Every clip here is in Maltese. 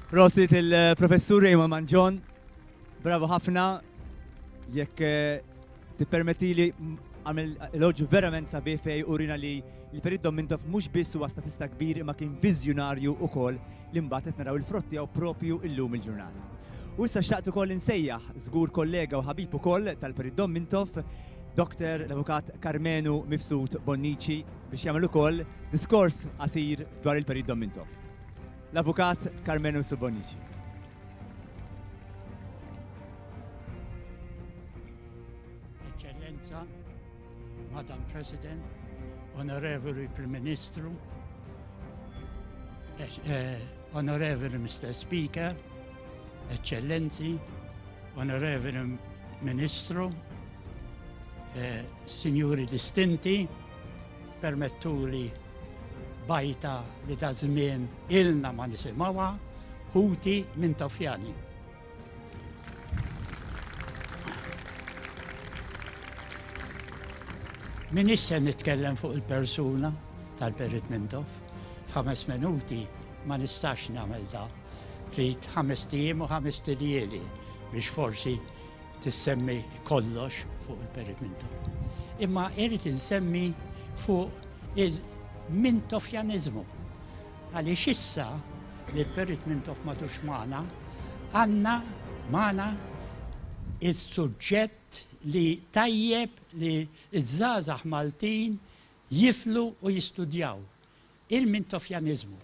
Prosit il-professur Raymond Manġon. Bravo ħafna. Jekk eh, tippermettili għamel elogju verament sabiħ fej urina li l-Perit Dom Mintoff mhux biss huwa statista kbir imma kien viżjonarju ukoll li mbagħad qed naraw il-frott tiegħu propju illum il-ġurnata. U issa xtaqt ukoll insejjaħ żgur kollega u ħabib ukoll tal-Perit Dom Mintoff, Dr. l-Avukat Karmenu Mifsud Bonnici biex jagħmel ukoll diskors qasir dwar il-Perit Dom Mintoff. L-Avukat Karmenu Mifsud Bonnici. Eċċellenza, Madam President, Onorevoli Prim Ministru, eh, Onorevoli Mr. Speaker, Eċċellenzi, Onorevoli Ministru, eh, Sinjuri Distinti, permettuli bajta li da żmien ilna ma nisimgħuha, ħuti minn Tofjani. Minix se nitkellem fuq il-persuna tal-Perit Mintoff. F'ħames minuti ma nistax nagħmel da. Trid ħamest ijiem u ħamest iljieli biex forsi tissemmi kollox fuq il-Perit Mintoff. Imma irrid insemmi fuq il-Mintoffjaniżmu. Għaliex issa li l-Perit Mintoff m'għadux magħna, għandna magħna is-suġġett li tajjeb li ż-żgħażagħ Maltin jiflu u jistudjaw, il-Mintoffjaniżmu,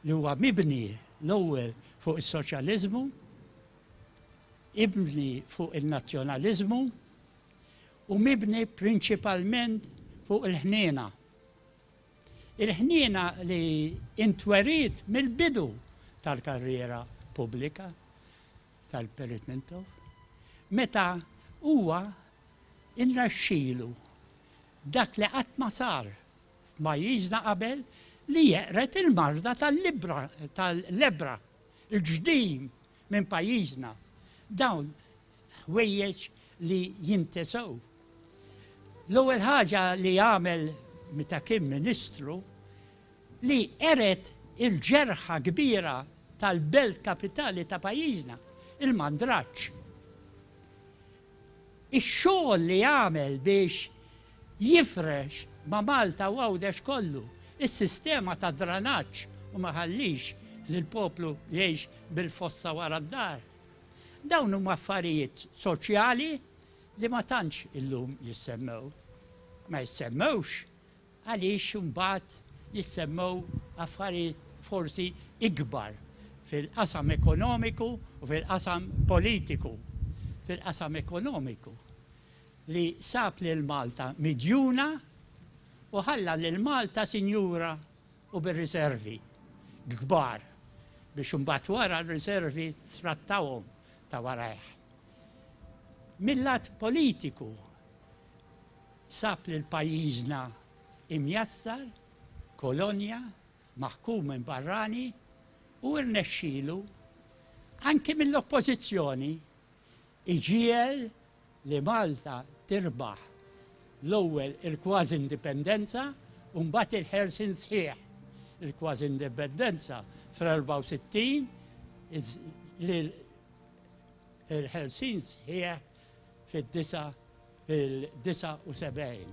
li huwa mibni l-ewwel fuq is-soċjaliżmu, ibni fuq il-nazzjonaliżmu u mibni prinċipalment fuq il-ħniena. Il-ħniena li intweriet mill-bidu tal-karriera pubblika tal-Perit Mintoff, meta huwa nrexxilu dak li qatt ma sar f'pajjiżna qabel li jeqred il-marda tal-libra tal-lebbra, il-ġdim minn pajjiżna. Dawn ħwejjeġ li jintesew. L-ewwel ħaġa li għamel meta kien Ministru li qered il-ġerħa kbira tal-belt kapitali ta' pajjiżna, il-Mandraġġ. Ix-xogħol li għamel biex jifrex ma' Malta u Għawdex kollu is-sistema ta' dranaġġ u ma ħallix lill-poplu jgħix bil-fossa wara d-dar. Dawn huma affarijiet soċjali li ma tantx illum jissemmew. Ma jissemmewx għaliex imbagħad jissemmew affarijiet forsi ikbar fil-qasam ekonomiku u fil-qasam politiku. Fil-qasam ekonomiku li sab lil Malta midjuna u ħalla lil Malta sinjura u bir-riservi kbar biex imbagħad wara r-riservi sfrattawhom ta' warajh. Mil-lat politiku sab lil pajjiżna imjassar, kolonja, maħkum minn barrani u rnexxielu anki mill-oppożizzjoni iġiegħel li Malta tirbaħ l-ewwel il-kważi indipendenza u mbagħad il-ħelsien sħiħ. Il-kważi indipendenza fl-64 il-ħelsien sħiħ fid-79.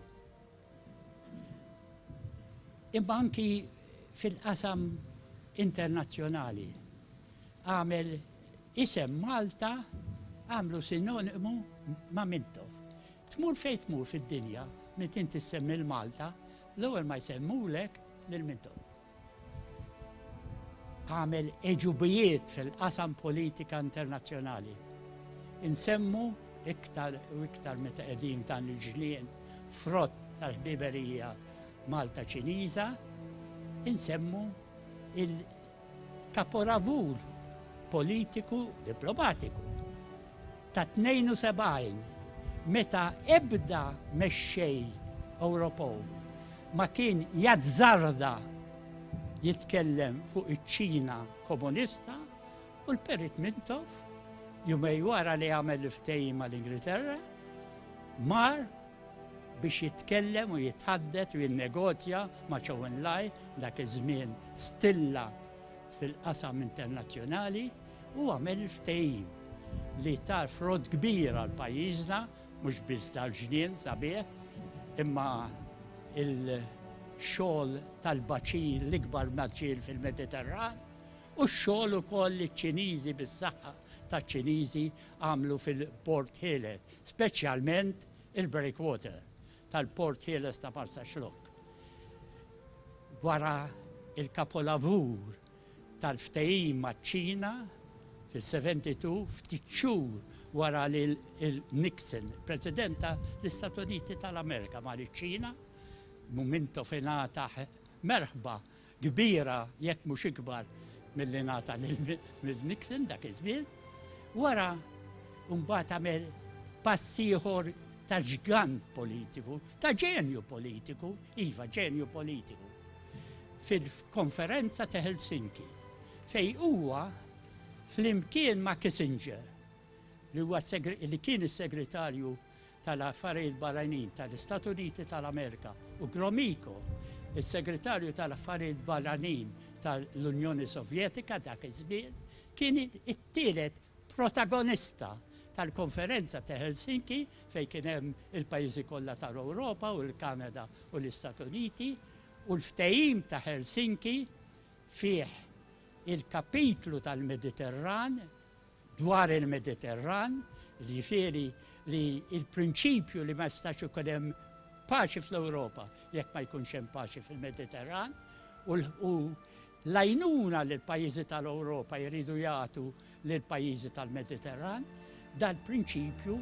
Imma anki fil-qasam internazzjonali għamel isem Malta għamlu sinonimu ma' Mintoff. Tmur fejn tmur fid-dinja, meta inti ssemmi l-Malta, l-ewwel ma jsemmulek lil Mintoff. Għamel għeġubijiet fil-qasam politika internazzjonali. Insemmu iktar u iktar meta qegħdin dan il-ġnien frott tal-ħbiberija Malta Ċiniża, insemmu il-kaporavur politiku diplomatiku ta' 72 meta ebda mexxej Ewropew ma kien jazzarda jitkellem fuq iċ-Ċina komunista u l-Perit Mintoff jumej wara li għamel il-ftehim mal-Ingilterra mar biex jitkellem u jitħaddet u jinnegozja ma' Chou En-lai, dak iż-żmien stilla fil-. fil-qasam internazzjonali u għamel il-ftehim li ta frott kbir għal pajjiżna, mhux biss dal-ġnien sabiħ, imma il-xogħol tal-baċir, l-ikbar baċir fil-Mediterran, u x-xogħol ukoll li ċ-Ċiniżi bis-saħħa taċ-Ċiniżi għamlu fil-Port Ħieles, speċjalment il-breakwater tal-Port Ħieles ta' Marsaxlokk. Wara il-kapolavur tal-ftehim maċ-Ċina fil-72, ftit xhur wara li l-Nixon, President tal-Istati Uniti tal-Amerika, mar iċ-Ċina, Mintoff ingħata merħba kbira jekk mhux ikbar milli ngħata lil Nixon dak iż-żmien. Wara mbagħad għamel pass ieħor ta' ġgant politiku, ta' ġenju politiku, iva ġenju politiku, fil-konferenza ta' Helsinki, fej huwa flimkien ma' Kissinger, li huwa li kien is-segretarju tal-Affarijiet Barranin tal-Istati Uniti tal-Amerika u Gromyko, is-Segretarju tal-Affarijiet Barranin tal-Unjoni Sovjetika dak iż-żmien, kien it-tielet protagonista tal-Konferenza ta' Helsinki fejn kien hemm il-pajjiżi kollha tal-Ewropa u l-Kanada u l-Istati Uniti u l-ftehim ta' Helsinki fih il-kapitlu tal-Mediterran dwar il-Mediterran, jiġifieri li l-prinċipju li ma jistax ikun hemm paċi fl-Ewropa jekk ma jkunx hemm paċi fil-Mediterran u l-għajnuna li l-pajjiżi tal-Ewropa jridu jagħtu lill-pajjiżi tal-Mediterran, dal-prinċipju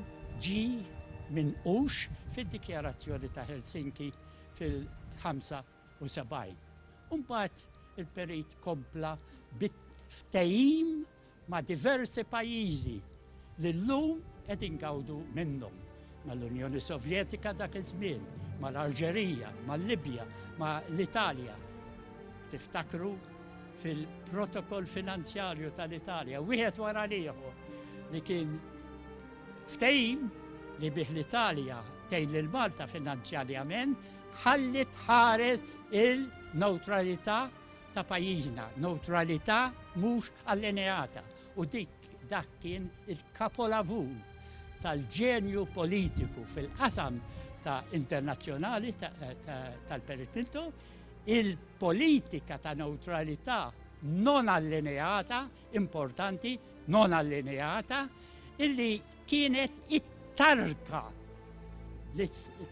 ġie minqux fid-Dikjarazzjoni ta' Helsinki fil-75. U mbagħad il-Perit kompla bi ftehim ma' diversi pajjiżi li llum qed ingawdu minnhom, mal-Unjoni Sovjetika dak iż-żmien, mal-Alġerija, mal-Libja, ma' l-Italja. Tiftakru fil-protokoll finanzjarju tal-Italja, wieħed wara l-ieħor, li kien ftehim li bih l-Italja tgħin lil Malta finanzjarjament ħalli tħares il-newtralità ta' pajjiżna, newtralità mhux allineata u dik dak kien il-kapolavur tal-ġenju politiku fil-qasam ta' internazzjonali tal-Perit Mintoff, il-politika ta' newtralità non allineata, importanti, non allineata, illi kienet it-tarka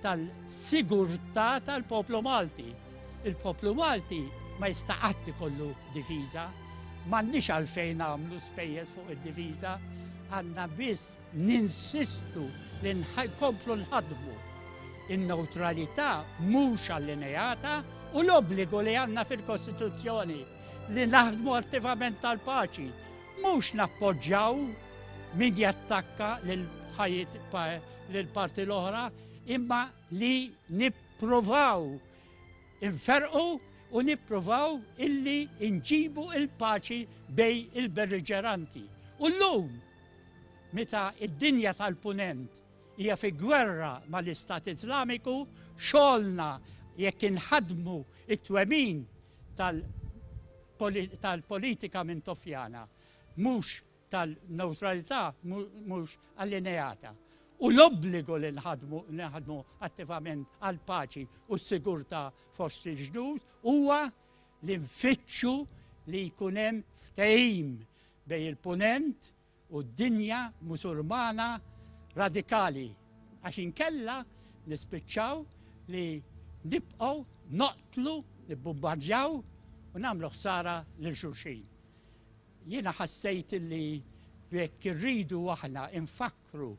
tal-sigurtà tal-poplu Malti. Il-poplu Malti ma jista' qatt ikollu difiża, m'għandniex għalfejn nagħmlu spejjeż fuq id-difiża, għandna biss ninsistu li nkomplu nħaddmu in-newtralità mhux allineata u l-obbligu li għandna fil-Kostituzzjoni li naħdmu attivament tal-paċi, mhux nappoġġjaw min jattakka lil parti l-oħra, imma li nippruvaw inferqu u nippruvaw illi nġibu il-paċi bejn il-belliġeranti. U llum, meta id-dinja tal-punent hija fi gwerra mal-Istat Iżlamiku, xogħolna jekk inħaddmu it-twemmin tal-politika Mintoffjana mhux tal-newtralità mhux allineata u l-obbligu li nħadmu naħdmu attivament għall-paċi u s-sigurtà fost il-ġnus huwa li nfittxu li jkun hemm ftehim bejn il-Punent u d-dinja Musulmana radikali għax inkella nispiċċaw li nibqgħu noqtlu, nibbumbardjaw u nagħmlu ħsara lil xulxin. Jiena ħassejt li jekk irridu aħna infakkru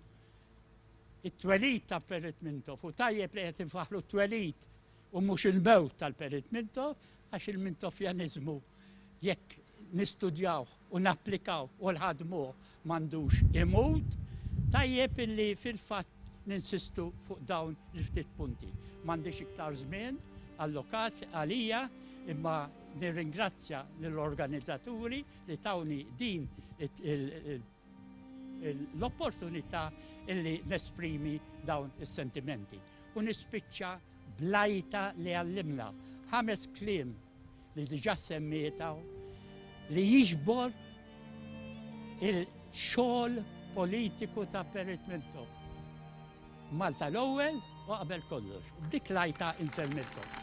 it-twelid ta' Perit Mintoff u tajjeb li qed infaħlu t-twelid u mhux il-mewt tal-Perit Mintoff għax il-Mintoffjaniżmu jekk nistudjawh u napplikaw u nħaddmuh m'għandux imut, tajjeb illi fil-fatt ninsistu fuq dawn il-ftit punti. M'għandix iktar żmien allokat għalija imma nirringrazzja lill-organizzaturi li tawni din l-opportunità illi nesprimi dawn is-sentimenti. U nispiċċa bl-għajta li għallimna, ħames kliem li diġà semmiet hawn. li jiġbor il-xogħol politiku ta' Perit Mintoff. Malta l-ewwel u qabel kollox. B'dik l-għajta insellmilkom.